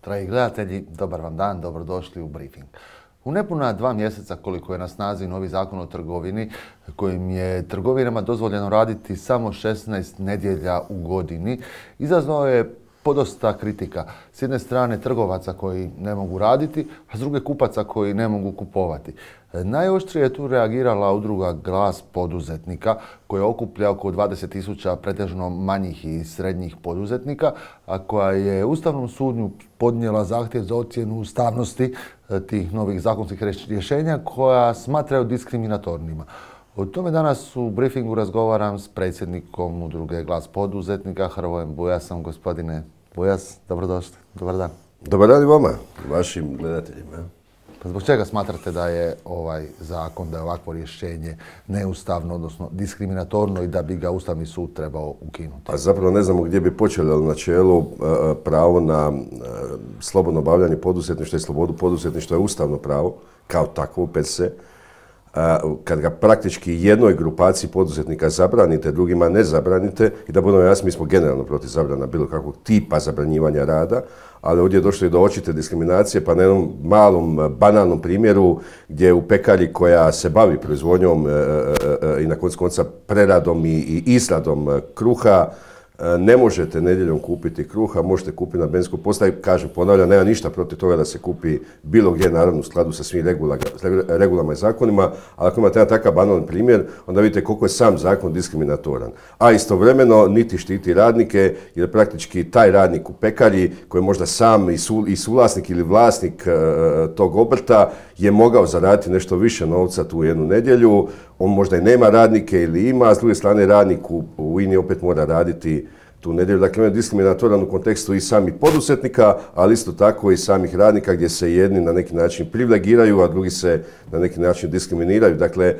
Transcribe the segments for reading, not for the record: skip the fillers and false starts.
Dragi gledatelji, dobar vam dan, dobrodošli u briefing. U nepuna 2 mjeseca koliko je na snazi novi zakon o trgovini, kojim je trgovinama dozvoljeno raditi samo 16 nedjelja u godini, izazvao je podosta kritika. S jedne strane trgovaca koji ne mogu raditi, a s druge kupaca koji ne mogu kupovati. Najoštrije je tu reagirala udruga Glas poduzetnika, koja okuplja oko 20.000 pretežno manjih i srednjih poduzetnika, a koja je Ustavnom sudu podnijela zahtjev za ocjenu ustavnosti tih novih zakonskih rješenja koja smatraju diskriminatornima. O tome danas u briefingu razgovaram s predsjednikom udruge Glas poduzetnika Hrvojem Bujasom. Gospodine Bujas, dobrodošli. Dobar dan. Dobar dan i vama, vašim gledateljima. Pa zbog čega smatrate da je ovaj zakon, da je ovakvo rješenje neustavno, odnosno diskriminatorno i da bi ga Ustavni sud trebao ukinuti? Pa zapravo ne znamo gdje bi počeli, ali u načelu pravo na slobodno obavljanje poduzetništva i slobodu poduzetništva je ustavno pravo, kao takvo per se. Kad ga praktički jednoj grupaciji poduzetnika zabranite, drugima ne zabranite, i da budemo jasni, mi smo generalno protiv zabrana bilo kakvog tipa zabranjivanja rada, ali ovdje je došlo i do očite diskriminacije, pa na jednom malom, banalnom primjeru gdje u pekari koja se bavi proizvodnjom i na koncu konca preradom i izradom kruha, ne možete nedjeljom kupiti kruha, možete kupiti na benzinskoj postaji. Kažem, ponavljam, nema ništa protiv toga da se kupi bilo gdje, naravno u skladu sa svim regulama i zakonima, ali ako imate jedan takav banalan primjer, onda vidite koliko je sam zakon diskriminatoran. A istovremeno niti štiti radnike, jer praktički taj radnik u pekari, koji je možda sam i suvlasnik ili vlasnik tog obrta, je mogao zaraditi nešto više novca tu jednu nedjelju. On možda i nema radnike ili ima, a s druge strane radnik u INI opet mora raditi tu nedjelju. Dakle, on je diskriminatoran u kontekstu i samih poduzetnika, ali isto tako i samih radnika, gdje se jedni na neki način privilegiraju, a drugi se na neki način diskriminiraju. Dakle,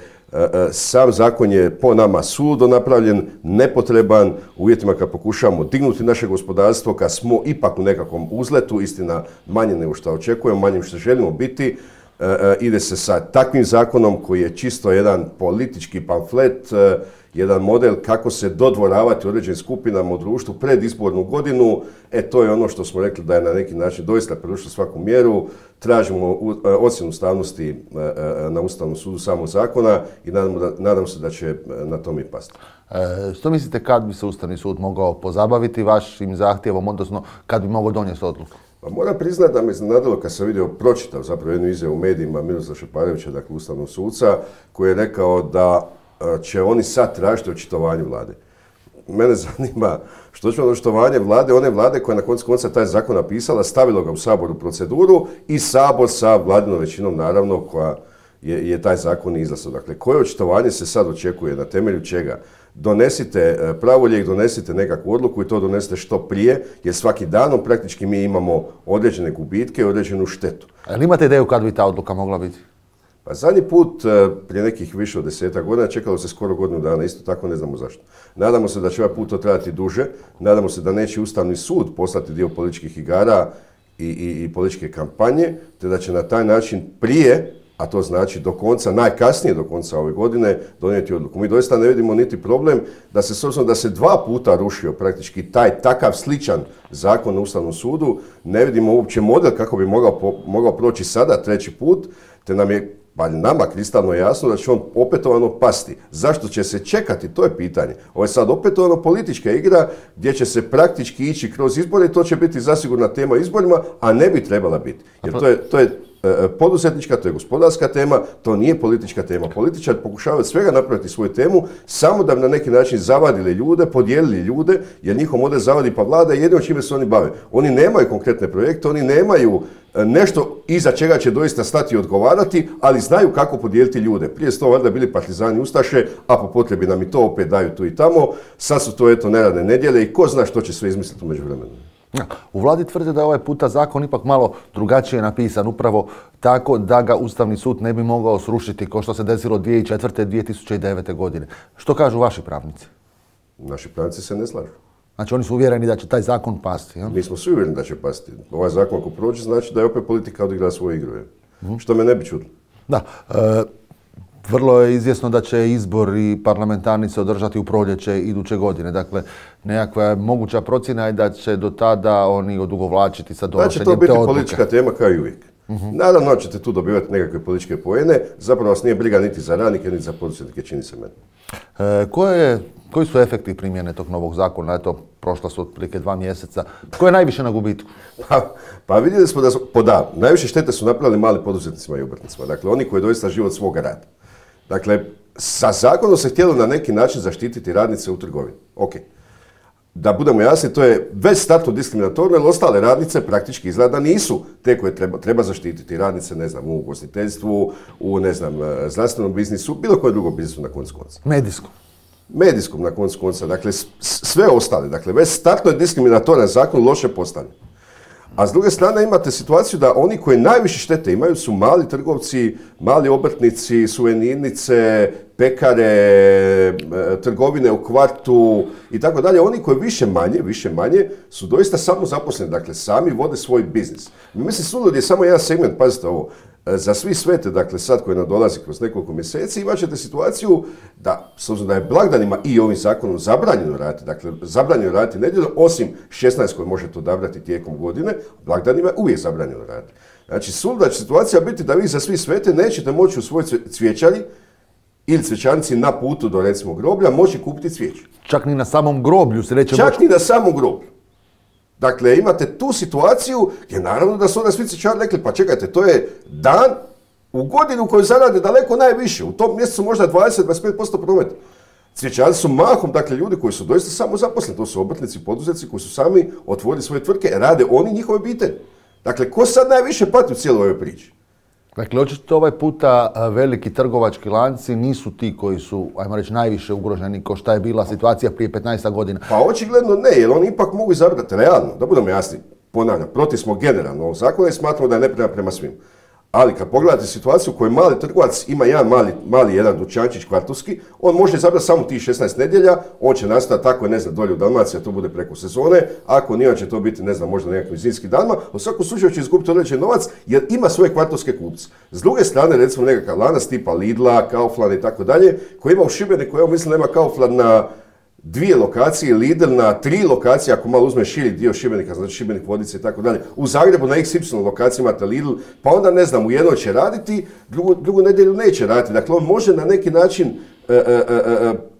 sam zakon je po nama suludo napravljen, nepotreban, u uvjetima kad pokušavamo dignuti naše gospodarstvo, kad smo ipak u nekakvom uzletu, istina manje nego što očekujemo, manje što želimo biti. Ide se sa takvim zakonom koji je čisto jedan politički pamflet, jedan model kako se dodvoravati određenim skupinama u društvu pred izbornu godinu. To je ono što smo rekli da je na neki način doista prevršilo svaku mjeru. Tražimo ocjenu ustavnosti na Ustavnom sudu samog zakona i nadam se da će na tom i pasti. Što mislite kad bi se Ustavni sud mogao pozabaviti vašim zahtjevom, odnosno kad bi mogao donijeti odluku? Pa moram priznati da me iznenadilo kad sam pročitao zapravo jednu izjavu u medijima Miroslava Šeparovića, dakle ustavnog suca, koji je rekao da će oni sad tražiti očitovanje vlade. Mene zanima što će očitovanje vlade, one vlade koja je na koncu konca taj zakon napisala, stavilo ga u Sabor u proceduru i Sabor sa vladinom većinom, naravno, koja je taj zakon izglasao. Dakle, koje očitovanje se sad očekuje, na temelju čega? Donesite pravolijek, donesite nekakvu odluku i to donesite što prije, jer svaki danom praktički mi imamo određene gubitke i određenu štetu. Ali imate ideju kad bi ta odluka mogla biti? Pa zadnji put, prije nekih više od 10 godina, čekalo se skoro godinu dana, isto tako ne znamo zašto. Nadamo se da će ovaj put to trajati duže, nadamo se da neće Ustavni sud poslati dio političkih igara i političke kampanje, te da će na taj način prije, a to znači do konca, najkasnije do konca ove godine, donijeti odluku. Mi doista ne vidimo niti problem da se, s obzirom da se 2 puta rušio praktički taj takav sličan zakon na Ustavnom sudu, ne vidimo uopće model kako bi mogao proći sada 3. put, te nam je nama kristalno jasno da će on opetovano pasti. Zašto će se čekati? To je pitanje. Ovo je sad opetovano politička igra gdje će se praktički ići kroz izbore i to će biti zasigurna tema izborima, a ne bi trebala biti. Jer to je poduzetnička, to je gospodarska tema, to nije politička tema. Političari pokušavaju svega napraviti svoju temu, samo da bi na neki način zavadili ljude, podijelili ljude, jer njihov model zavadi pa vlada i jedino čime se oni bave. Oni nemaju konkretne projekte, oni nemaju nešto iza čega će doista stati i odgovarati, ali znaju kako podijeliti ljude. Prije su to valjda bili partizani ustaše, a po potrebi nam i to opet daju tu i tamo. Sad su to neradne nedjelje i ko zna što će sve izmisliti u međuvremenu. U vladi tvrde da je ovaj puta zakon ipak malo drugačije napisan, upravo tako da ga Ustavni sud ne bi mogao srušiti kao što se desilo 2004. 2009. godine. Što kažu vaši pravnici? Naši pravnici se ne slažu. Znači oni su uvjereni da će taj zakon pasti? Ja? Mi smo svi uvjereni da će pasti. Ovaj zakon ako prođe znači da je opet politika odigrala svoju igru. Što me ne bi čudilo. Da. vrlo je izvjesno da će izbori parlamentarni se održati u proljeće iduće godine. Dakle, nekakva moguća procjena je da će do tada oni odugovlačiti sa donošenjem te odluke. Da će to biti politička tema kao i uvijek. Naravno ćete tu dobivati nekakve političke poene, zapravo vas nije briga niti za radnike, niti za poduzetnike, čini se meni. Koji su efekti primjene tog novog zakona? Eto, prošla su otprilike 2 mjeseca. Ko je najviše na gubitku? Pa vidjeli smo da najviše štete su napravili mali poduzetnicima i obrtnicima. Dakle, oni koji doista žive od svoga rada. Dakle, sa zakonom se htjelo na neki način zaštititi radnice u trgovini. Ok. Da budemo jasni, to je već startno diskriminatorno, jer ostale radnice praktički izgleda da nisu te koje treba zaštititi. Radnice, ne znam, u ugostiteljstvu, u, ne znam, zdravstvenom biznisu, bilo koje drugo biznisu na koncu konca. Medijskom na koncu konca, dakle sve ostale. Dakle, već startno je diskriminatoran zakon loše postavljen. A s druge strane imate situaciju da oni koji najviše štete imaju su mali trgovci, mali obrtnici, suvenirnice, pekare, trgovine u kvartu i tako dalje. Oni koji više manje su doista samozaposleni, dakle sami vode svoj biznis. Mislim, sulud je samo jedan segment, pazite ovo, za svi svete, dakle sad koji nam dolazi kroz nekoliko mjeseci, imat ćete situaciju da, s obzirom da je blagdanima i ovim zakonom zabranjeno raditi, dakle zabranjeno raditi nedjeljom, osim 16 koje možete odabrati tijekom godine, blagdanima je uvijek zabranjeno raditi. Znači, suluda će situacija biti da vi za svi svete nećete moći u svoj cvjećari ili cvjećarnici na putu do, recimo, groblja moći kupiti cvijeće. Čak ni na samom groblju se neće Čak ni na samom groblju. Dakle, imate tu situaciju gdje naravno da su onda svi cvjećari rekli, pa čekajte, to je dan u godinu koju zarade daleko najviše. U tom mjesecu možda 20-25% prometa. Cvjećari su mahom, dakle, ljudi koji su doista samozaposleni. To su obrtnici, poduzetnici koji su sami otvorili svoje tvrtke, rade oni njihove obitelji. Dakle, ko sad najviše pati u cijeloj ovoj priči? Dakle, očito ovaj puta veliki trgovački lanci nisu ti koji su, ajmo reći, najviše ugroženi kao šta je bila situacija prije 15 godina. Pa očigledno ne, jer oni ipak mogu izabrati realno, da budemo jasni, ponavljam, protiv smo generalno ovog zakona i smatramo da je nepravedan prema svim. Ali kad pogledate situaciju u kojoj mali trgovac ima jedan dućančić kvartovski, on može izabrati samo tih 16 nedjelja, on će nastati tako, ne znam, dolje u Dalmaciji, a to bude preko sezone, ako nije, će to biti, ne znam, možda nekakvim zimskim danima, u svakom slučaju će izgubiti određen novac jer ima svoje kvartovske kupce. S druge strane, recimo nekakav lanac tipa Lidla, Kaufland i tako dalje, koji ima u Šibeniku, evo mislim da ima Kaufland na 2 lokacije, Lidl na 3 lokacije, ako malo uzme širi dio Šibenika, znači Šibenik, Vodice i tako dalje. U Zagrebu na XY lokaciji imate Lidl, pa onda ne znam, u jednoj će raditi, drugu nedjelju neće raditi. Dakle, on može na neki način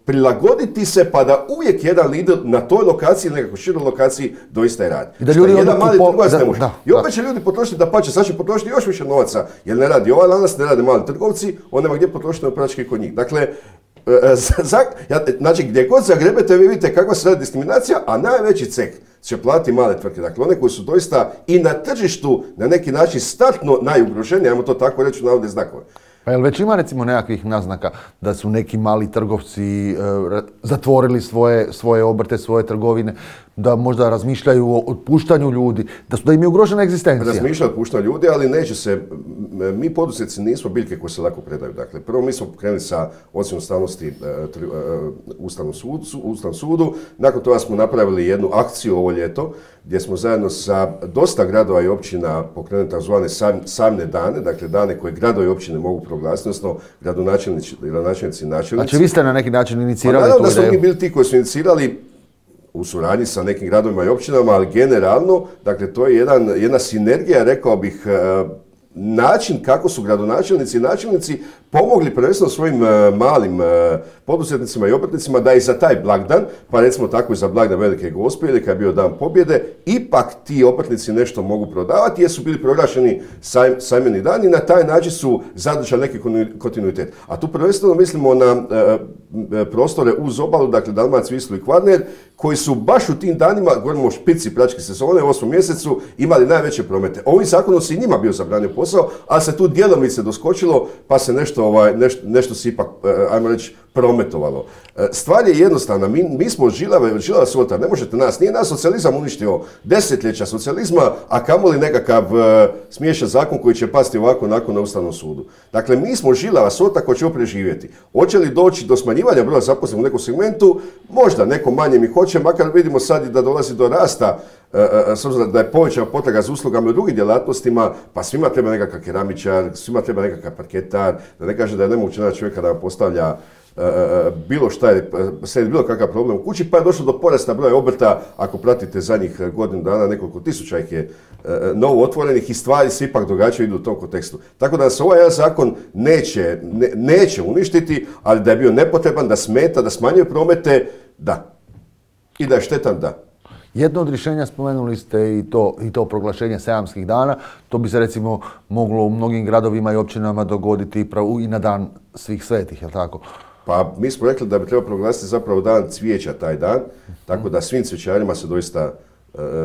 prilagoditi se pa da uvijek jedan Lidl na toj lokaciji ili nekako široj lokaciji doista je radi. I da ljudi jedan mali trgovac ne može. I opet će ljudi potrošiti, dapače, sad će potrošiti još više novaca, jer ne radi ovaj lanac, ne rade mali trgovci, on nema gdje potrošiti praktički kod njih. Dakle, znači, gdje god zagrebete, vi vidite kakva se radi diskriminacija, a najveći ceh će platiti male tvrtke. Dakle, one koji su doista i na tržištu na neki način startno najugroženiji, ajmo to tako reći u navodne znakove. Pa jel već ima recimo nekakvih naznaka da su neki mali trgovci zatvorili svoje obrte, svoje trgovine, da možda razmišljaju o otpuštanju ljudi, da im je ugrožena egzistencija? Razmišljaju o otpuštanju ljudi, ali neće se, mi poduzetnici nismo biljke koje se lako predaju. Dakle, prvo mi smo krenuli sa ocjenom ustavnosti Ustavnom sudu, nakon toga smo napravili jednu akciju ovo ljeto, gdje smo zajedno sa dosta gradova i općina pokrenuli takozvane sajmne dane, dakle dane koje gradovi i općine mogu proglasiti, odnosno gradonačelnici i načelnici. Znači vi ste na neki način inicirali tu ideju? Naravno da smo mi bili ti koji su inicirali u suradnji sa nekim gradovima i općinama, ali generalno, dakle to je jedna sinergija, rekao bih, način kako su gradonačelnici i načelnici pomogli prvenstveno svojim malim poduzetnicima i obrtnicima da i za taj blagdan, pa recimo tako i za blagdan Velike Gospe ili kad je bio dan pobjede, ipak ti obrtnici nešto mogu prodavati jer su bili proglašeni sajmeni dani i na taj način su zadržali neki kontinuitet. A tu prvenstveno mislimo na prostore uz obalu, dakle Dalmaciju, Wislu i Kvarner, koji su baš u tim danima, govorimo o špici pračke sezone, u 8. mjesecu, imali najveće promete. Ovim zakonom se i njima bio zabranio posao, ali se tu djelomice doskočilo, pa se nešto se ipak, ajmo reći, prometovalo. Stvar je jednostavna, mi smo žilava sorta, ne možete nas, nije nas socijalizam uništio desetljeća socijalizma, a kamoli nekakav smiješan zakon koji će pasti ovako nakon na Ustavnom sudu. Dakle, mi smo žilava sorta koja će preživjeti. Hoće li doći do smanjivanja broja zaposlenih u nekom segmentu? Možda, neko manje mi hoće, makar vidimo sad i da dolazi do rasta, s obzirom da je povećana potraga za uslugama u drugim djelatnostima, pa svima treba nekakav keramičar, svima treba nekakav parketar, da ne kaže da je nemoguće naći čovjeka da postavlja bilo šta je, bilo kakav problem u kući, pa je došlo do porasta broja obrta, ako pratite zadnjih godinu dana, nekoliko tisuća ih je novo otvorenih i stvari se ipak događaju idu u tom kontekstu. Tako da se ovaj zakon neće uništiti, ali da je bio nepotreban, da smeta, da smanjuje promete, da. I da je štetan, da. Jedno od rješenja spomenuli ste i to proglašenje sajamskih dana. To bi se recimo moglo u mnogim gradovima i općinama dogoditi i na dan svih svetih, je li tako? Pa mi smo rekli da bi trebalo proglasiti zapravo dan cvijeća taj dan, tako da svim cvijećarima se doista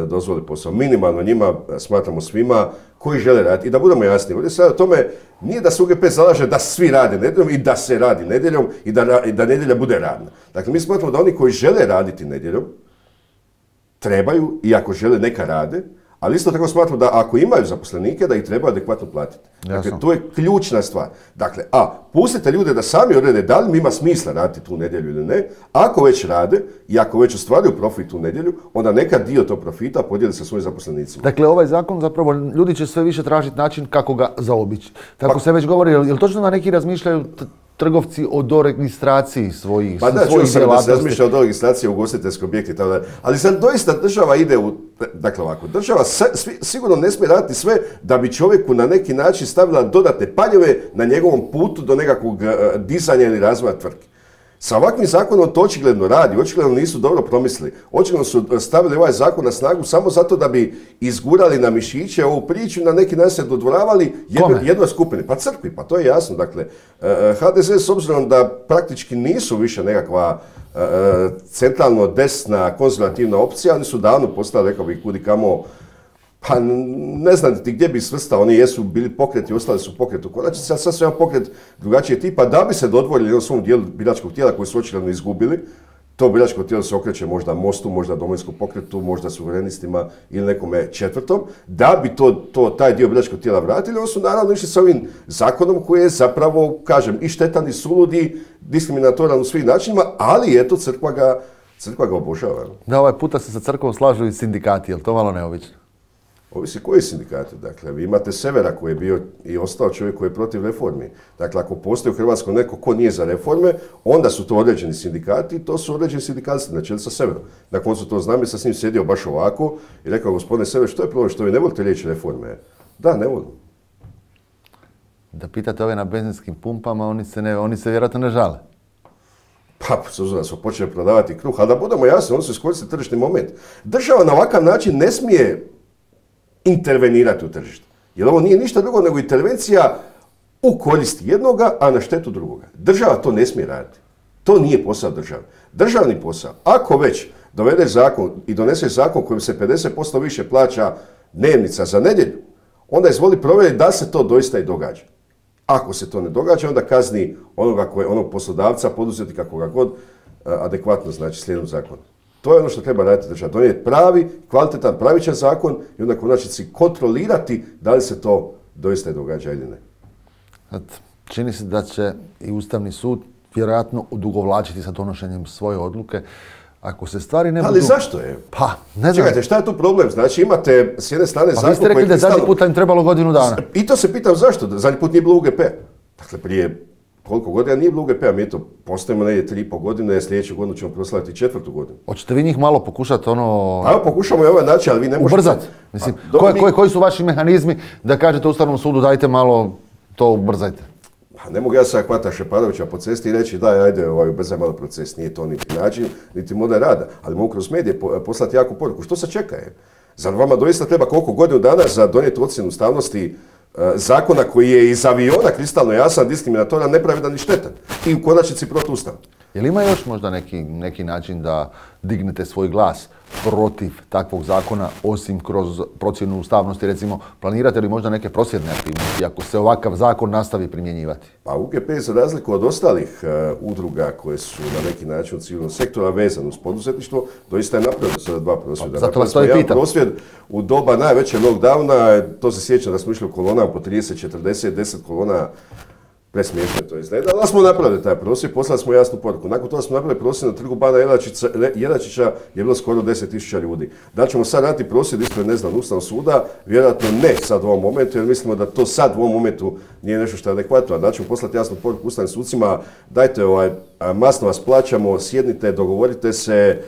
dozvoli posao. Minimalno njima, smatramo svima, koji žele raditi. I da budemo jasni, ovdje sad o tome nije da se UGP zalaže da svi rade nedjeljom i da se radi nedjeljom i da nedjelja bude radna. Dakle, mi smatramo da oni koji žele raditi nedjeljom, trebaju, i ako žele neka rade, ali isto tako smatram da ako imaju zaposlenike, da ih treba adekvatno platiti. Dakle, to je ključna stvar. Dakle, pustite ljude da sami odrede da li ima smisla raditi tu nedjelju ili ne. Ako već rade i ako već ostvaruju profit u nedjelju, onda neka dio tog profita podijeli sa svojim zaposlenicima. Dakle, ovaj zakon zapravo, ljudi će sve više tražiti način kako ga zaobići. Tako se već govori, je li točno da neki razmišljaju trgovci o doregistraciji svojih djelatnosti? Pa da, čuo sam da se razmišlja o doregistraciji ugostiteljskih objekti, ali sad doista država ide dakle ovako, država sigurno ne smije raditi sve da bi čovjeku na neki način stavila dodatne paljeve na njegovom putu do nekakvog dizanja ili razvoja tvrtke. Sa ovakvim zakonom to očigledno radi, očigledno nisu dobro promislili. Očigledno su stavili ovaj zakon na snagu samo zato da bi izgurali na mišiće ovu priču i na neki način se dodvoravali jednoj skupini. Pa crkvi, pa to je jasno. Dakle, HDZ s obzirom da praktički nisu više nekakva centralno desna konzervativna opcija, oni su davno postali, rekao bih, kudi kamo, pa ne znam gdje bi svrstao, oni jesu bili pokreti, ostali su pokret u konačnici, a sad su jedan pokret drugačije tipa, da bi se dodvorili u svom dijelu biračkog tijela koji su očigledno izgubili. To biračko tijelo se okreće možda Mostu, možda Domovinskom pokretu, možda Suverenistima ili nekome četvrtom. Da bi taj dio biračkog tijela vratili, oni su naravno išli s ovim zakonom koji je zapravo, kažem, i štetan i suludi, diskriminatoran u svim načinima, ali eto, crkva ga obožava. Da, ovaj puta se sa crkvom slažu i sindikati, je li to malo neobično? Ovisi koji sindikati. Dakle, vi imate Severa koji je bio i ostao čovjek koji je protiv reformi. Dakle, ako postoji u Hrvatskoj neko ko nije za reforme, onda su to određeni sindikati i to su određeni sindikalisti na čelu sa Severom. Na koncu to znam, jer sam s njim sjedio baš ovako i rekao, gospodine Sever, što je problem, što vi ne volite riječ reforme? Da, ne volim. Da pitate ove na benzinskim pumpama, oni se vjerojatno ne žale. Pa, da su počeli prodavati kruh, ali da budemo jasni, oni su iskoristili tržišni moment. Država na ovakav način ne smije intervenirati u tržište. Jer ovo nije ništa drugo nego intervencija u korist jednoga, a na štetu drugoga. Država to ne smije raditi. To nije posao države. Državni posao, ako već dovedeš zakon i doneseš zakon kojim se 50% više plaća dnevnica za nedjelju, onda izvoli provjeriti da se to doista i događa. Ako se to ne događa, onda kazni onog poslodavca, poduzetnika, koga god, adekvatno, znači slijedom zakona. To je ono što treba raditi država. Donijeti pravi, kvalitetan, pravičan zakon i onda konačnici kontrolirati da li se to doista i događa ili ne. Čini se da će i Ustavni sud vjerojatno odugovlačiti sa donošenjem svoje odluke. Ako se stvari ne budu... Ali zašto je? Pa, ne znam. Čekajte, šta je tu problem? Znači imate s jedne strane zakon koji... Pa vi ste rekli da zadnji put im trebalo godinu dana. I to se pitam zašto. Zadnji put nije bilo UGP. Dakle, prije koliko godina nije bilo UGP-a, mi to postojimo negdje 3,5 godine, sljedeću godinu ćemo proslaviti 4. godinu. Hoćete vi njih malo pokušati Pa evo, pokušamo i ovaj način, ali vi ne možete... Ubrzati. Mislim, koji su vaši mehanizmi da kažete Ustavnom sudu dajte malo to ubrzajte? Pa ne mogu ja sad hvatati Šeparovića po cesti i reći daj, ajde, ubrzaj malo proces, nije to niti način, niti model rada, ali mogu kroz medije poslati jaku poruku. Što se čeka je? Zar vama doista treba koliko godinu dana za donijeti ocjenu ustavnosti zakona koji je iz aviona kristalno jasan, diskriminatoran, nepravedan i štetan i u konačnici protuustavan? Je li ima još možda neki način da dignete svoj glas protiv takvog zakona, osim kroz procjenu ustavnosti, recimo, planirate li možda neke prosvjedne aktivnosti ako se ovakav zakon nastavi primjenjivati? Pa UGP za razliku od ostalih udruga koje su na neki način u civilnom sektoru vezano uz poduzetništvo, doista je napravio sada 2 prosvjeda. Zato vas to i pitam. Prosvjed u doba najvećeg lockdowna, to se sjeća da smo išli u kolonama po 30, 40, 10 kolona. Presmiješno to izgleda, ali smo napravili taj prosvjed, poslali smo jasnu poruku. Nakon toga smo napravili prosvjed na trgu Bana Jelačića, je bilo skoro 10.000 ljudi. Da ćemo sad raditi prosvjed ispred, Ustavnog suda, vjerojatno ne sad u ovom momentu, jer mislimo da to sad u ovom momentu nije nešto što je adekvatno. Da ćemo poslati jasnu poruku ustavnim sucima, dajte masno vas plaćamo, sjednite, dogovorite se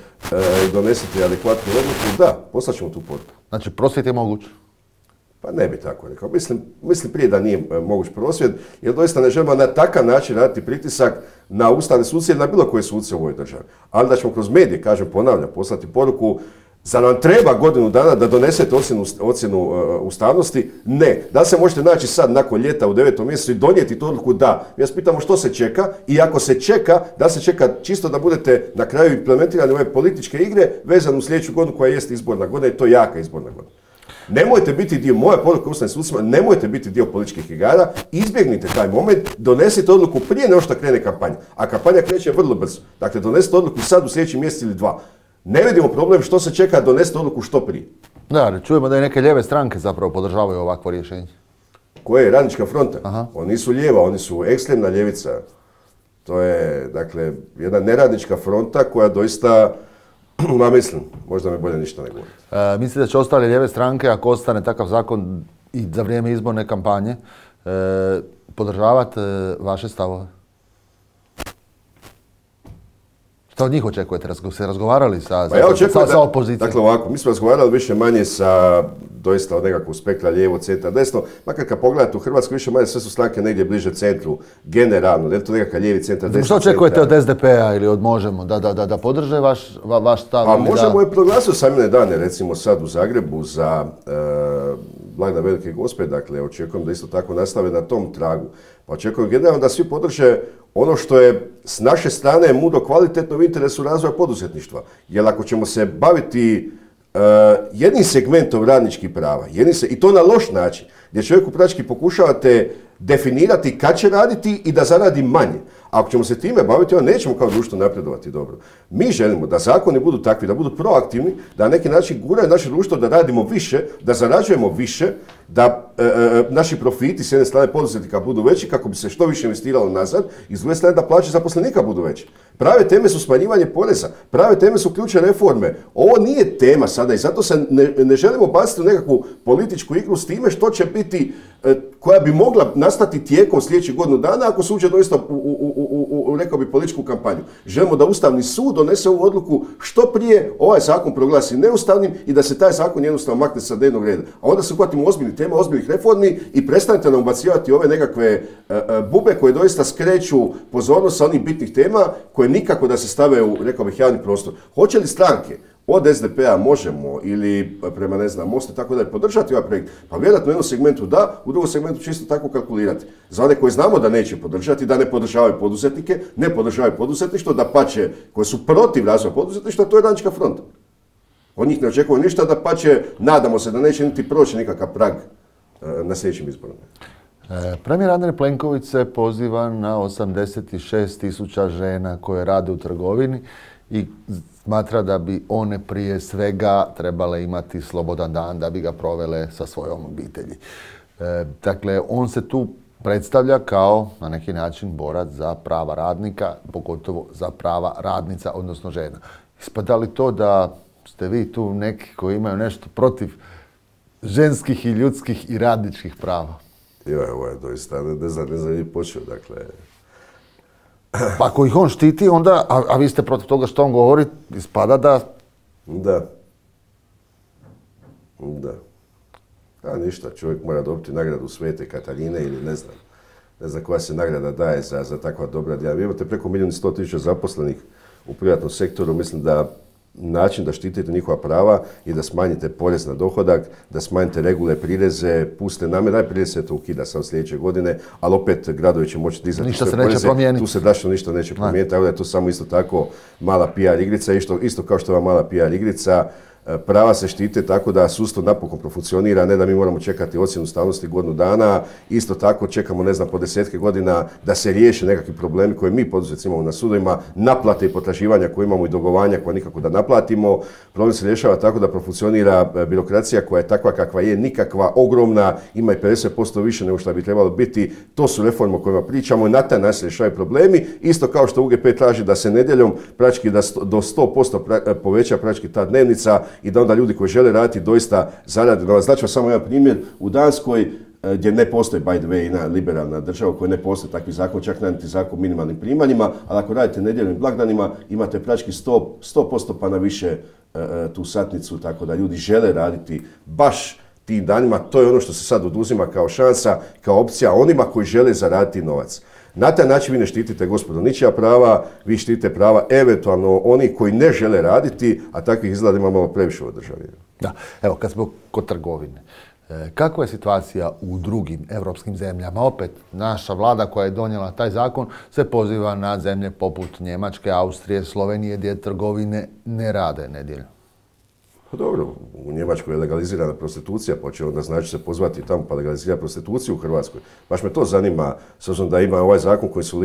i donesite adekvatnu odluku. Da, poslat ćemo tu poruku. Znači, prosvjed je moguć? Pa ne bi tako rekao. Mislim prije da nije moguć prosvjed, jer doista ne želimo na takav način raditi pritisak na ustavne suce ili na bilo koje suce u ovoj državi. Ali da ćemo kroz medije, ponavljam, poslati poruku, za nam treba godinu dana da donesete ocjenu ustavnosti? Ne. Da se možete naći sad nakon ljeta u 9. mjesecu i donijeti tu odluku? Da. Mi vas pitamo što se čeka i ako se čeka, da se čeka čisto da budete na kraju implementirani ove političke igre vezano u sljedeću godinu koja jest izborna godina i to jaka izborna godina. Nemojte biti dio, moja poruka ustavnim sucima, nemojte biti dio političkih igara, izbjegnite taj moment, donesite odluku prije nego što krene kampanja. A kampanja kreće vrlo brzo. Dakle, donesite odluku sad u sljedeći mjesec ili 2. Ne vidimo problem što se čeka, donesite odluku što prije. Da, čujemo da i neke lijeve stranke zapravo podržavaju ovakvo rješenje. Koje je Radnička fronta? Aha. Oni nisu lijeva, oni su ekstremna ljevica. To je, dakle, jedna neradnička fronta koja doista, mislim, možda mi bolje ništa ne govori. Mislite da će ostale lijeve stranke, ako ostane takav zakon i za vrijeme izborne kampanje, podržavati vaše stavove? Šta od njih očekujete? Se razgovarali sa opozicijom? Dakle ovako, mi smo razgovarali više manje sa doista od nekakvog spektra lijevo, centra, desno. Makar kad pogledate u Hrvatskoj više manje sve su stranke negdje bliže centru, generalno. Je li to nekakav lijevi centar, desni centar? Što očekujete od SDP-a ili od Možemo? Da podrže vaš stav? Pa Možemo je proglasio samine dane, recimo sad u Zagrebu za blagdan Velike Gospe, dakle očekujem da isto tako nastave na tom tragu. Pa očekujem generalno da svi podrže ono što je s naše strane mudro kvalitetno u interesu razvoja poduzetništva. Jer ako ćemo se baviti jednim segmentom radničkih prava, i to na loš način, gdje čovjeku praktički pokušavate definirati kad će raditi i da zaradi manje. Ako ćemo se time baviti, onda nećemo kao društvo napredovati dobro. Mi želimo da zakoni budu takvi, da budu proaktivni, da na neki način guraju naše društvo da radimo više, da zarađujemo više, da naši profiti s jedne strane poduzetnika budu veći kako bi se što više investiralo nazad i s druge strane da plaće zaposlenika budu veće. Prave teme su smanjivanje poreza, prave teme su ključne reforme. Ovo nije tema sada i zato se ne želimo baciti u nekakvu političku igru s time što će biti, koja bi mogla nastati tijekom sljedećih godinu dana ako se uđe doista u rekao bi političku kampanju. Želimo da Ustavni sud donese ovu odluku što prije, ovaj zakon proglasi neustavnim i da se taj zakon jednostavno makne sa dnevnog reda. A onda se uhvatimo ozbiljnih tema, ozbiljnih reformi i prestanete nam ubacivati ove nekakve bube koje doista skreću pozornost sa onih bitnih tema koje nikako da se stave u, rekao bih, javni prostor. Hoće li stranke od SDP-a Možemo ili prema Mostu tako da podržati ovaj projekt? Pa vjerojatno u jednom segmentu da, u drugom segmentu čisto tako kalkulirati. Za one koje znamo da neće podržati, da ne podržavaju poduzetnike, ne podržavaju poduzetništvo, da pače koje su protiv razvoja poduzetništva, to je Radnička fronta. Od njih ne očekujemo ništa, da pače, nadamo se da neće niti proći nikakav prag na sljedećim izborima. Premijer Andrej Plenković se poziva na 86.000 žena koje rade u trgovini i smatra da bi one prije svega trebale imati slobodan dan da bi ga provele sa svojom obitelji. Dakle, on se tu predstavlja kao na neki način borac za prava radnika, pogotovo za prava radnica, odnosno žena. Ispada li to da ste vi tu neki koji imaju nešto protiv ženskih i ljudskih i radničkih prava? Ovo je doista, ne znam gdje počeo, dakle. Pa ako ih on štiti, onda, a vi ste protiv toga što on govori, ispada da... Da. A ništa, čovjek mora dobiti nagradu Svete Katarine ili ne znam koja se nagrada daje za takva dobra djela. Vi imate preko 1.100.000 zaposlenih u privatnom sektoru, mislim da način da štitite njihova prava i da smanjite porez na dohodak, da smanjite regule, prireze, puste namete, prirez se to ukida sam sljedeće godine, ali opet gradovi će moći dizati ništa se neće promijeniti. Tu se dašno ništa neće promijeniti, tako da je to samo isto tako mala PR igrica, isto kao što je ova mala PR igrica. Prava se štite tako da sustav napokon profunkcionira, ne da mi moramo čekati ocjenu ustavnosti godinu dana, isto tako čekamo, ne znam, po desetke godina da se riješe nekakvi problemi koje mi poduzetnici imamo na sudovima, naplate i potraživanja koje imamo i dugovanja koje nikako da naplatimo. Problem se rješava tako da profunkcionira birokracija koja je takva kakva je, nikakva, ogromna, ima i 50% više nego što bi trebalo biti. To su reforme o kojima pričamo i na taj način se rješavaju problemi. Isto kao što UGP traži da se nedjeljom praktički do 100% poveća praktički ta dnevnica i da onda ljudi koji žele raditi doista zarade novac. Znači samo jedan primjer, u Danskoj gdje ne postoji, by the way, jedna liberalna država u kojoj ne postoji takvi zakon, čak niti zakon o minimalnim primanjima, ali ako radite nedjeljnim blagdanima imate praktički 100% pa na više tu satnicu, tako da ljudi žele raditi baš tim danima. To je ono što se sad oduzima kao šansa, kao opcija onima koji žele zaraditi novac. Na taj način vi ne štitite, gospodo, ničija prava, vi štitite prava eventualno oni koji ne žele raditi, a takvih izgleda ima malo previše u državi. Da, evo, kad smo kod trgovine, kakva je situacija u drugim europskim zemljama? Opet, naša vlada koja je donijela taj zakon se poziva na zemlje poput Njemačke, Austrije, Slovenije, gdje trgovine ne rade nedjeljom. Pa dobro, u Njemačkoj je legalizirana prostitucija, pa će onda znači se pozvati tamo pa legalizirati prostituciju u Hrvatskoj. Baš me to zanima, s obzirom da ima ovaj zakon koji se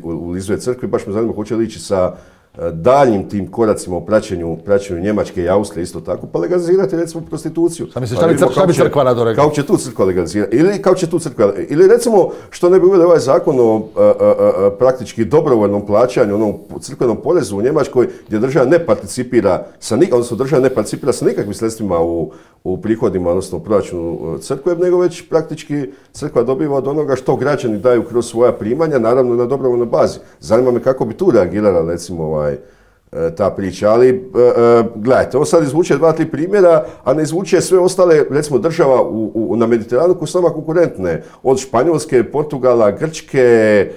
ulizuje crkvi, baš me zanima hoće li ići sa daljnjim tim koracima u praćenju Njemačke i Austrije isto tako, pa legalizirati recimo prostituciju. Šta misliš, šta bi crkva rado rekla? Kako će tu crkva legalizirati? Ili recimo što ne bi uveli ovaj zakon o praktički dobrovoljnom plaćanju, onom crkvenom porezu u Njemačkoj gdje država ne participira sa nikakvim sredstvima u prihodima, odnosno u proračunu crkve, nego već praktički crkva dobiva od onoga što građani daju kroz svoja primanja, naravno na dobrovoljnoj bazi. Zanima me kako bi tu reagirala recimo ta priča, ali gledajte, ovo sad izvuče 2-3 primjera, a ne izvuče sve ostale, recimo država na Mediteranu koje su nama konkurentne, od Španjolske, Portugala, Grčke,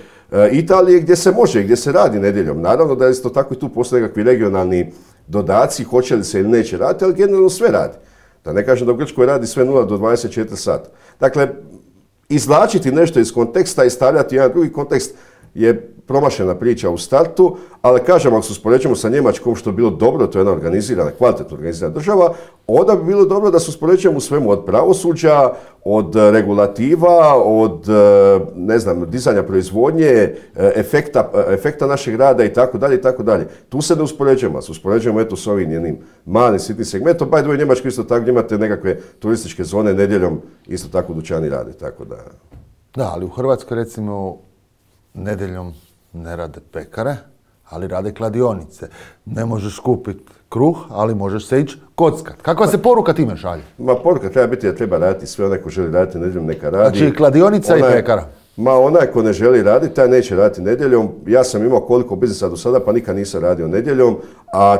Italije, gdje se može, gdje se radi nedjeljom. Naravno da isto tako i tu postoje nekakvi regionalni dodaci, hoće li se ili neće raditi, ali generalno sve radi. Da ne kažem da u Grčkoj radi sve 0 do 24 sata. Dakle, izvlačiti nešto iz konteksta i stavljati jedan drugi kontekst je promašena priča u startu, ali kažem, ako se uspoređujemo sa Njemačkom, što je bilo dobro, to je jedna organizirana, kvalitetno organizirana država, onda bi bilo dobro da se uspoređujemo u svemu od pravosuđa, od regulativa, od, ne znam, dizanja proizvodnje, efekta našeg rada i tako dalje i tako dalje. Tu se ne uspoređujemo, se uspoređujemo eto s ovim jednim malim sitnim segmentom. By the way, Njemačko isto tako gdje imate nekakve turističke zone nedjeljom, isto tako dućani rade, tako da. Da, ali u Hrvatskoj recimo nedjeljom ne rade pekare, ali rade kladionice. Ne možeš kupiti kruh, ali možeš se ići kockat. Kakva se poruka time šalje? Ma poruka treba biti da treba raditi sve, onaj ko želi raditi nedjeljom neka radi. Znači kladionica i pekara? Onaj ko ne želi raditi, taj neće raditi nedjeljom. Ja sam imao koliko biznisa do sada, pa nikad nisam radio nedjeljom, a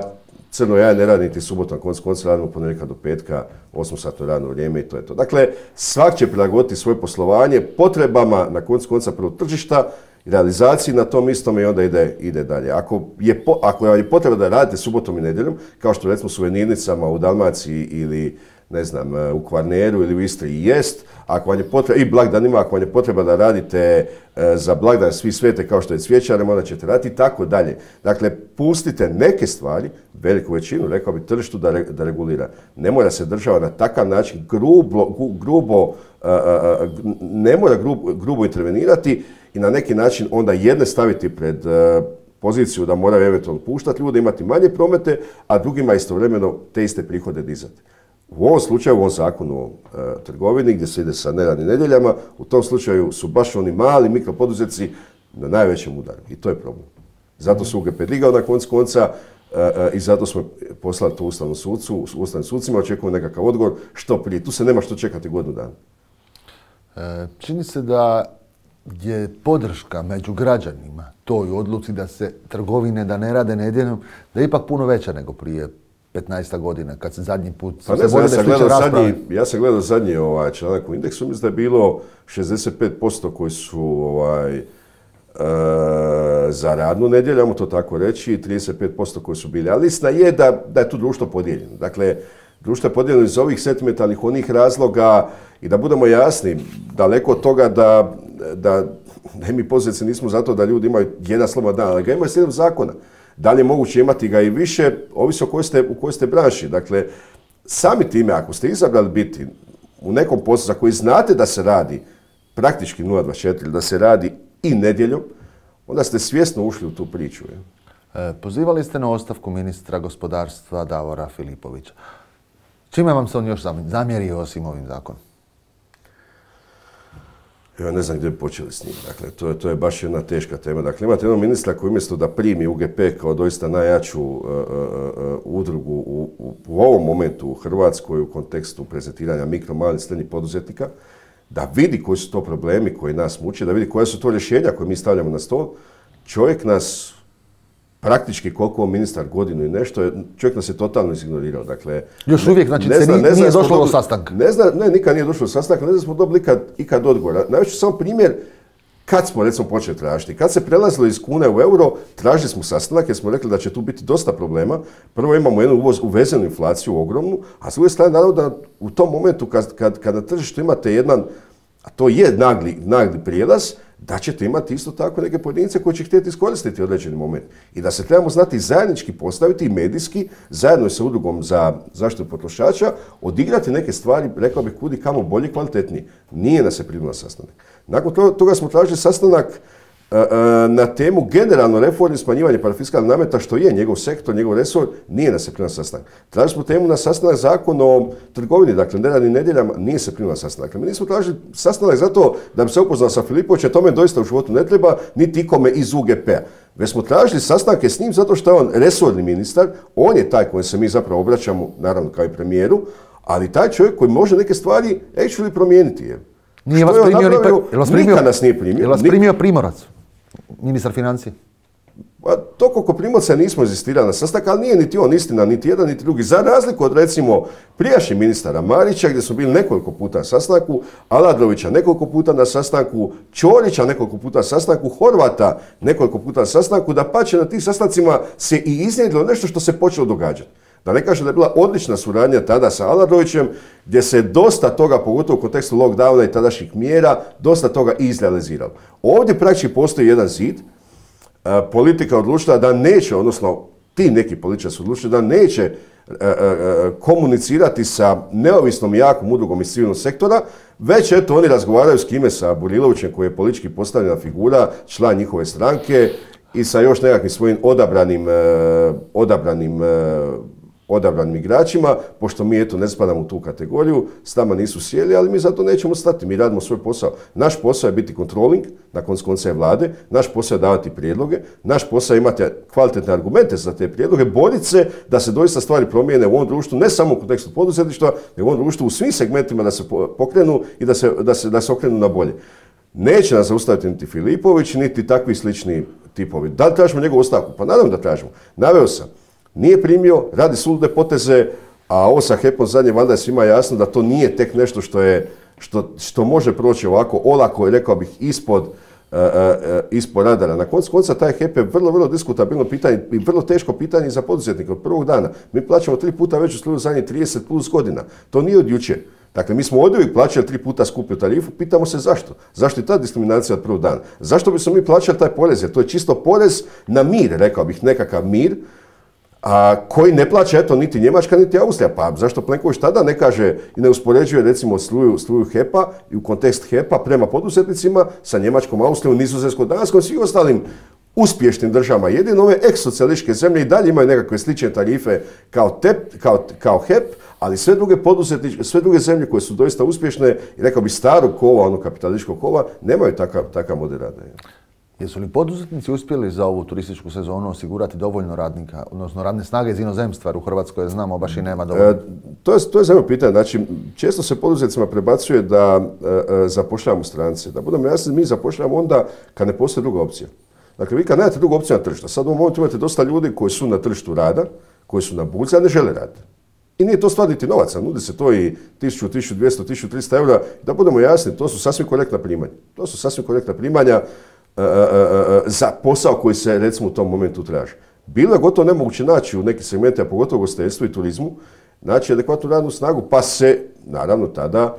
crno ja ne radim niti subotom, konca radimo ponedjeljka do petka, 8-satno radno vrijeme i to je to. Dakle, svak će prilagoditi svoje poslovanje potrebama na konca prvog tržišta, realizaciji na tom istom i onda ide dalje. Ako je potreba da radite subotom i nedjeljom, kao što recimo su u Venirnicama u Dalmaciji ili ne znam, u Kvarneru ili u Istri jest, ako vam je potreba, i blagdanima, ako vam je potreba da radite za blagdan svi svete kao što je cvjećarem, onda ćete raditi i tako dalje. Dakle, pustite neke stvari, veliku većinu, rekao bi, tržištu da regulira. Ne mora se država na takav način ne mora grubo intervenirati i na neki način onda jedne staviti pred poziciju da moraju eventualno puštati ljude, imati manje promete, a drugima istovremeno te iste prihode dizati. U ovom slučaju, u ovom zakonu o trgovini, gdje se ide sa neradnim nedjeljama, u tom slučaju su baš oni mali mikropoduzetnici na najvećem udaru. I to je problem. Zato su UGP digao na konca i zato smo poslali to ustavnim sucima, očekujemo nekakav odgovor što prije. Tu se nema što čekati godinu dana. Čini se da je podrška među građanima toj odluci da se trgovine da ne rade nedjeljom, da je ipak puno veća nego prije 15 godina, kad se zadnji put... Ja sam gledao zadnji članak u Indeksu, mislim da je bilo 65% koji su za radnu nedjelju, ajmo to tako reći, 35% koji su bili. Ali istina je da je tu društvo podijeljeno. Dakle, društvo je podijeljeno iz ovih sentimentalnih onih razloga i da budemo jasni, daleko od toga da mi poduzetnici nismo zato da ljudi imaju jedan slobodan dan, ali ga imaju slijedom zakona. Da li je moguće imati ga i više, ovisi u kojoj ste branši. Dakle, sami time, ako ste izabrali biti u nekom poslu za koji znate da se radi praktički 0,24, da se radi i nedjeljom, onda ste svjesno ušli u tu priču. Pozivali ste na ostavku ministra gospodarstva Davora Filipovića. Čime vam se on još zamjerio osim ovim zakonom? Ja ne znam gdje bi počeli s njim. Dakle, to je baš jedna teška tema. Dakle, imate jednog ministra koji umjesto da primi UGP kao doista najjaču udrugu u ovom momentu u Hrvatskoj u kontekstu prezentiranja mikro, malih, srednjih poduzetnika, da vidi koji su to problemi koji nas muče, da vidi koja su to rješenja koje mi stavljamo na stol. Čovjek nas praktički koliko ministar godinu i nešto, čovjek nas je totalno izignorirao. Dakle, još uvijek, znači, nije došlo do sastanka? Ne, nikad nije došlo do sastanka, ne znam smo dobili ikad odgovor. Navešću samo primjer kad smo recimo počeli tražiti. Kad se prelazilo iz kune u euro, tražili smo sastanak jer smo rekli da će tu biti dosta problema. Prvo imamo jednu uvezenu inflaciju ogromnu, a s druge strane naravno da u tom momentu kad na tržištu imate jedan, a to je nagli prijelaz, da ćete imati isto tako neke pojedince koji će htjeti iskoristiti određeni moment. I da se trebamo znati zajednički postaviti i medijski, zajedno sa udrugom za zaštitu potrošača, odigrati neke stvari, rekao bih, kudi kamo bolje i kvalitetnije. Nije nas se primio na sastanak. Nakon toga smo tražili sastanak na temu generalno reforme smanjivanja parafiskalnih nameta, što je njegov sektor, njegov resor, nije nas se primio na sastanak. Tražili smo temu na sastanak Zakon o trgovini, dakle neradnim nedjeljama, nije se primio na sastanak. Dakle, mi nismo tražili sastanak zato da bi se upoznao sa Filipovićem, tome doista u životu ne treba, niti ikome iz UGP-a. Već smo tražili sastanke s njim zato što je on resorni ministar, on je taj kojem se mi zapravo obraćamo, naravno kao i premijeru, ali taj čovjek koji može neke stvari actually promijeniti. Nije vas primio, nikad nas nije primio. Je vas primio Primorac, ministar financija? To koliko Primorca nismo inzistirali na sastanak, ali nije niti on istina, niti jedan, niti drugi. Za razliku od recimo prijašnjih ministara Marića, gdje smo bili nekoliko puta na sastanku, Aladrovića nekoliko puta na sastanku, Ćorića nekoliko puta na sastanku, Horvata nekoliko puta na sastanku, da pače na tih sastancima se i iznjedilo nešto što se počelo događati. Da ne kažem da je bila odlična suradnja tada sa Aladrovićem, gdje se dosta toga, pogotovo u kontekstu lockdowna i tadašnjih mjera, dosta toga izrealiziralo. Ovdje praktički postoji jedan zid. Politika odlučila da neće, odnosno ti neki političari su odlučili da neće komunicirati sa neovisnom i jakom udrugom iz civilnog sektora, već eto oni razgovaraju s kime, sa Burilovićem koji je politički postavljena figura, član njihove stranke i sa još nekakvim svojim odabranim igračima, pošto mi eto ne spadamo u tu kategoriju, s nama nisu sjeli, ali mi zato nećemo stati, mi radimo svoj posao. Naš posao je biti controlling, na koncu konca je vlade, naš posao je davati prijedloge, naš posao je imati kvalitetne argumente za te prijedloge, boriti se da se doista stvari promijene u ovom društvu, ne samo u kontekstu poduzetništva, nego u ovom društvu u svim segmentima da se pokrenu i da se okrenu na bolje. Neće nas zaustaviti niti Filipović, niti takvi slični tipovi. Da li tražimo njegovu ostavku? Pa naravno da tražimo. Naveo sam. Nije primio, radi sulude poteze, a ovo sa HEP-om zadnje, valjda je svima jasno da to nije tek nešto što može proći ovako olako i rekao bih ispod radara. Na koncu konca taj HEP je vrlo diskutabilno pitanje i vrlo teško pitanje za poduzetnike od prvog dana. Mi plaćamo 3 puta veću struju zadnjih 30 plus godina. To nije od jučer. Dakle, mi smo oduvijek plaćali 3 puta skuplju tarifu, pitamo se zašto. Zašto je ta diskriminacija od prvog dana? Zašto bismo mi plaćali taj porez? Jer to je čisto porez na mir, rekao bih, nekakav mir, a koji ne plaća eto niti Njemačka niti Austrija. Pa zašto Plenković tada ne kaže i ne uspoređuje recimo struju HEP-a i u kontekst HEP-a prema poduzetnicima sa Njemačkom, Austrijom, Nizozemskom, Danskom i svim ostalim uspješnim državama. Jedino ove ex-socijalističke zemlje i dalje imaju nekakve slične tarife kao HEP, ali sve druge zemlje koje su doista uspješne i rekao bi starog kova, ono kapitalističkog kova, nemaju takav model rada. Jesu li poduzetnici uspjeli za ovu turističku sezonu osigurati dovoljno radnika, odnosno radne snage iz inozemstva, jer u Hrvatskoj znamo baš i nema dovoljno? To je zanimljivo pitanje. Znači, često se poduzetnicima prebacuje da zapošljavamo strance. Da budemo jasni, mi zapošljavamo onda kad ne postoji druga opcija. Dakle, vi kad nemate drugu opciju na tržištu, sad u ovom momentu imate dosta ljudi koji su na tržištu rada, koji su na burzi, a ne žele raditi. I nije to stvar niti novaca, nudi se to i 1000, 1200, 1300 eura. Da budemo jasni, to su sasvim korektna primanja. za posao koji se recimo u tom momentu traži. Bilo je gotovo nemoguće naći u nekim segmentima, pogotovo u ugostiteljstvu i turizmu, naći adekvatnu radnu snagu, pa se naravno tada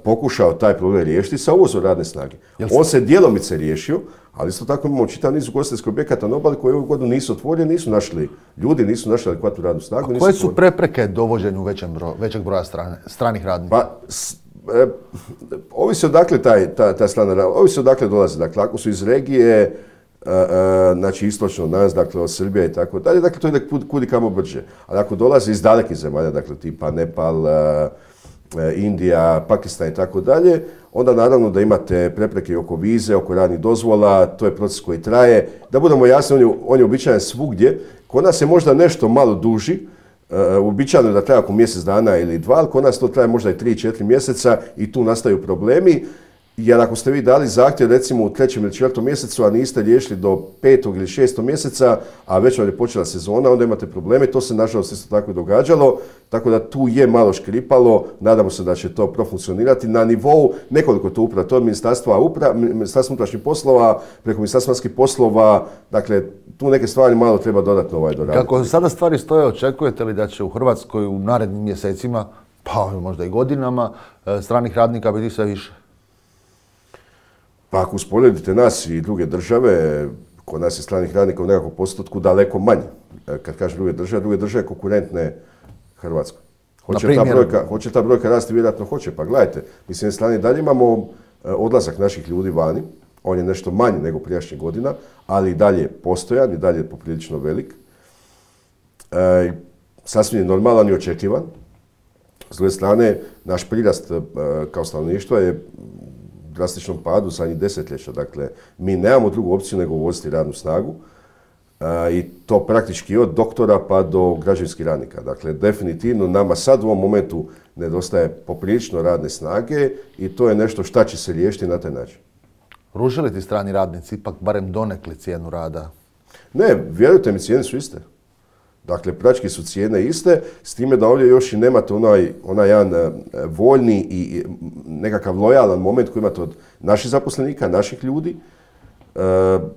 pokušao taj problem riješiti sa uvozom radne snage. On se djelomice riješio, ali isto tako imamo čitav niz ugostiteljskih objekata na obali koji ovu godinu nisu otvoreni, nisu našli ljudi, nisu našli adekvatnu radnu snagu. A koje su prepreke dovođenju većeg broja stranih radnika? Pa, ovisi odakle ta strana rada, ovisi odakle dolaze. Dakle, ako su iz regije, znači istočno od nas, dakle od Srbije i tako dalje, dakle to ide kud i kamo brže. Ali ako dolaze iz dalekih zemalja, dakle tipa Nepal, Indija, Pakistan i tako dalje, onda naravno da imate prepreke oko vize, oko radnih dozvola, to je proces koji traje. Da budemo jasni, on je uobičajen svugdje. Kod nas je možda nešto malo duži, uobičajeno je da traje oko mjesec dana ili dva, ali kod nas to traje možda i 3-4 mjeseca i tu nastaju problemi. Jer ako ste vi dali zahtjev recimo u 3. ili 4. mjesecu, a niste riješili do 5. ili 6. mjeseca, a već vam je počela sezona, onda imate probleme. To se nažalost isto tako događalo, tako da tu je malo škripalo. Nadamo se da će to profunkcionirati na nivou nekoliko tu uprava. To je Ministarstvo unutrašnjih poslova, preko Ministarstva vanjskih poslova, dakle tu neke stvari malo treba dodatno doraditi. Kako sada stvari stoje, očekujete li da će u Hrvatskoj u narednim mjesecima, pa možda i godinama, stranih radnika biti sve više? Pa ako usporedite nas i druge države, kod nas je stranih radnika u nekakvom postotku daleko manje. Kad kažem druge države konkurentne Hrvatskoj. Hoće ta brojka rasti? Vjerojatno hoće. Pa gledajte, mi s jedne strane dalje imamo odlazak naših ljudi vani. On je nešto manji nego prijašnjih godina, ali i dalje postojan, i dalje je poprilično velik. Sasvim je normalan i očekivan. S druge strane, naš prirast kao stanovništva je drastičnom padu zadnjih desetljeća. Dakle, mi nemamo drugu opciju nego uvoziti radnu snagu i to praktički od doktora pa do građevinskih radnika. Dakle, definitivno nama sad u ovom momentu nedostaje poprilično radne snage i to je nešto šta će se riješiti na taj način. Ruže li ti strani radnici ipak barem donekli cijenu rada? Ne, vjerujte mi, cijene su iste. Dakle, praktički su cijene iste, s time da ovdje još i nemate onaj jedan voljni i nekakav lojalan moment koji imate od naših zaposlenika, naših ljudi.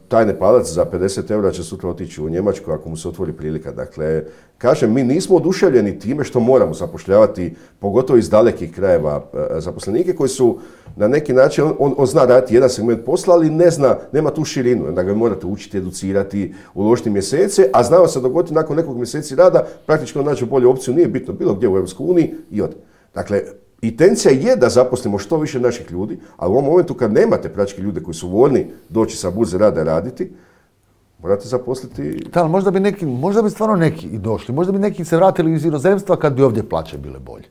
Taj Nepalac za 50 eura će sutra otići u Njemačku ako mu se otvori prilika. Dakle, kažem, mi nismo oduševljeni time što moramo zapošljavati, pogotovo iz dalekih krajeva, zaposlenike koji su na neki način, on zna raditi jedan segment posla, ali nema tu širinu. Da ga morate učiti, educirati, uložiti mjesece, a znamo se dogoditi nakon nekog mjeseci rada, praktički on nađe bolju opciju, nije bitno bilo gdje u EU i ode. Dakle, intencija je da zaposlimo što više naših ljudi, ali u ovom momentu kad nemate praktički ljude koji su voljni doći sa burze rada raditi, morate zaposliti... Da, ali možda bi stvarno neki i došli, možda bi neki se vratili iz inozemstva kad bi ovdje plaće bile bolje.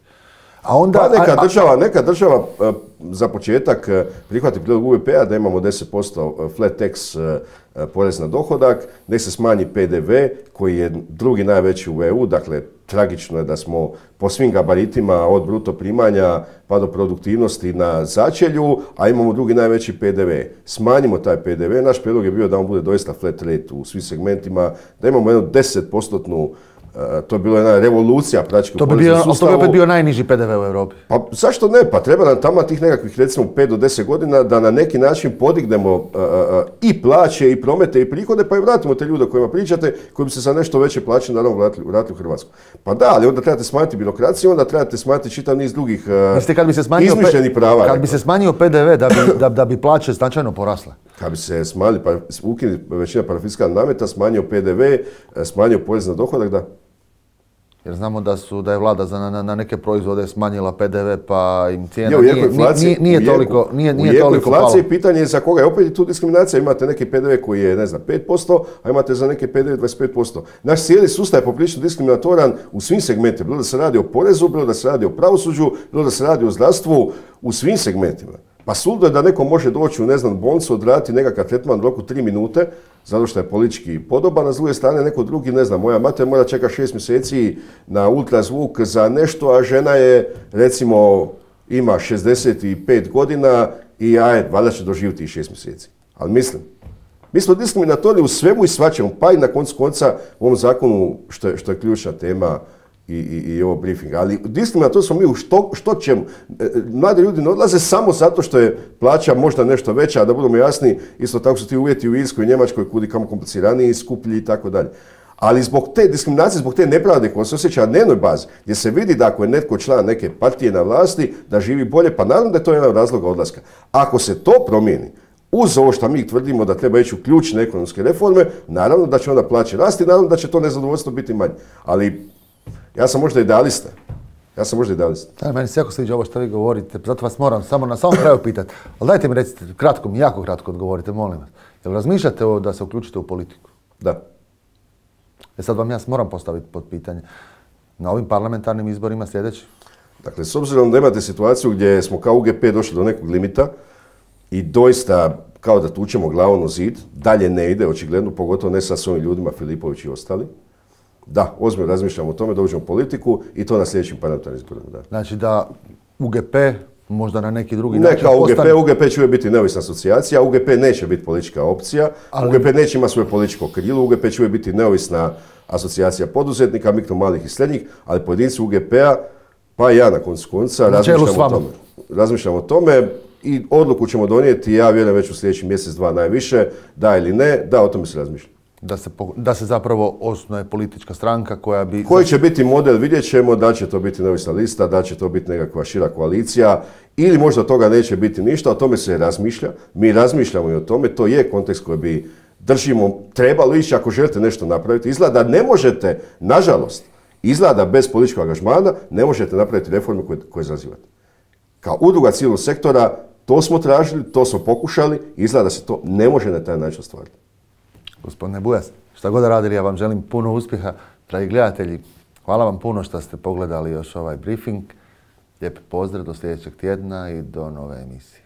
A onda, neka država za početak prihvati prijedlog UVP-a da imamo 10% flat tax porez na dohodak, nek se smanji PDV koji je drugi najveći u EU, dakle tragično je da smo po svim gabaritima od bruto primanja pa do produktivnosti na začelju, a imamo drugi najveći PDV. Smanjimo taj PDV, naš prijedlog je bio da on bude doista flat rate u svim segmentima, da imamo jednu 10%, to je bila jedna revolucija praktički u poreznom sustavu. To bi opet bio najniži PDV u Europi. Pa zašto ne? Pa treba nam tamo tih nekakvih recimo 5 do 10 godina da na neki način podignemo i plaće i promete i prihode pa i vratimo te ljude o kojima pričate koji bi se za nešto veće plaće naravno vratili u Hrvatsku. Pa da, ali onda trebate smanjiti birokraciju, onda trebate smanjiti čitav niz drugih izmišljenih prava. Kad bi se smanjio PDV da bi plaće značajno porasle? Kad bi se smanjili, pa ukinuli većina parafiskalnih nameta, smanjio PDV, smanjio porez na dohodak, da. Jer znamo da je vlada na neke proizvode smanjila PDV pa im cijena nije toliko palo. Inflacije pitanje je za koga je opet tu diskriminacija. Imate neki PDV koji je 5%, a imate za neke PDV 25%. Naš cijeli sustav je poprilično diskriminatoran u svim segmentima. Bilo da se radi o porezu, bilo da se radi o pravosuđu, bilo da se radi o zdravstvu, u svim segmentima. Pa suludo je da neko može doći u bolnicu, odraditi nekakav tretman u roku 3 minute, zato što je politički podoban, a s druge strane neko drugi, moja mater mora čekati 6 mjeseci na ultrazvuk za nešto, a žena je, recimo, ima 65 godina i valjda će doživjeti 6 mjeseci. Ali mislim, mi smo diskriminatorni u svemu i svačemu, pa i na koncu konca u ovom zakonu, što je ključna tema, i ovo briefing. Ali diskriminatorno smo mi u što ćemo. Mladi ljudi ne odlaze samo zato što je plaća možda nešto veća, a da budemo jasni, isto tako su ti uvjeti u Irskoj i Njemačkoj kudi kamo kompliciraniji, skuplji i tako dalje. Ali zbog te diskriminacije, zbog te nepravde koja se osjeća na dnevnoj bazi, gdje se vidi da ako je netko član neke partije na vlasti, da živi bolje, pa naravno da je to jedan od razloga odlaska. Ako se to promijeni, uz ovo što mi tvrdimo da treba ići u ključne ekonomske reforme, naravno da će onda plaće rasti, naravno da će to nezadovoljstvo biti manje. Ali ja sam možda idealista. Da, meni se jako sviđa ovo što vi govorite, zato vas moram samo na samom kraju pitati. Ali dajte mi recite, kratko mi, jako kratko odgovorite, molim vas. Jel razmišljate da se uključite u politiku? Da. Sad vam ja moram postaviti pod pitanje. Na ovim parlamentarnim izborima sljedeći? Dakle, s obzirom da imate situaciju gdje smo kao UGP došli do nekog limita i doista kao da tučemo glavom u zid, dalje ne ide, očigledno, pogotovo ne sa svojim ljudima, Filipović i ostali. Da, ozbiljno razmišljamo o tome da uđemo u politiku i to na sljedećim parlamentarnim izborima. Da. Znači da UGP možda na neki drugi način kao UGP će uvijek biti neovisna asocijacija, UGP neće biti politička opcija, UGP neće imati svoje političko krilo, UGP će uvijek biti neovisna asocijacija poduzetnika, mikro, malih i srednjih, ali pojedinci UGP-a, pa i ja na koncu konca, razmišljamo o tome i odluku ćemo donijeti, ja vjerujem već u sljedećih mjesec, dva najviše, da ili ne, da, o tome se razmišlja. Da se zapravo osnuje politička stranka koja bi... Koji će biti model, vidjet ćemo, da će to biti neovisna lista, da će to biti nekakva šira koalicija ili možda od toga neće biti ništa, o tome se razmišlja. Mi razmišljamo i o tome, to je kontekst koji bi držimo, trebalo ići ako želite nešto napraviti. Izgleda da ne možete, nažalost, izgleda bez političkog angažmana, ne možete napraviti reforme koje zazivate. Kao udruga civilnog sektora, to smo tražili, to smo pokušali, izgleda da se to ne može na taj način ostvariti. Gospodine Bujas, šta god radili, ja vam želim puno uspjeha. Dragi gledatelji, hvala vam puno što ste pogledali još ovaj briefing. Lijep pozdrav do sljedećeg tjedna i do nove emisije.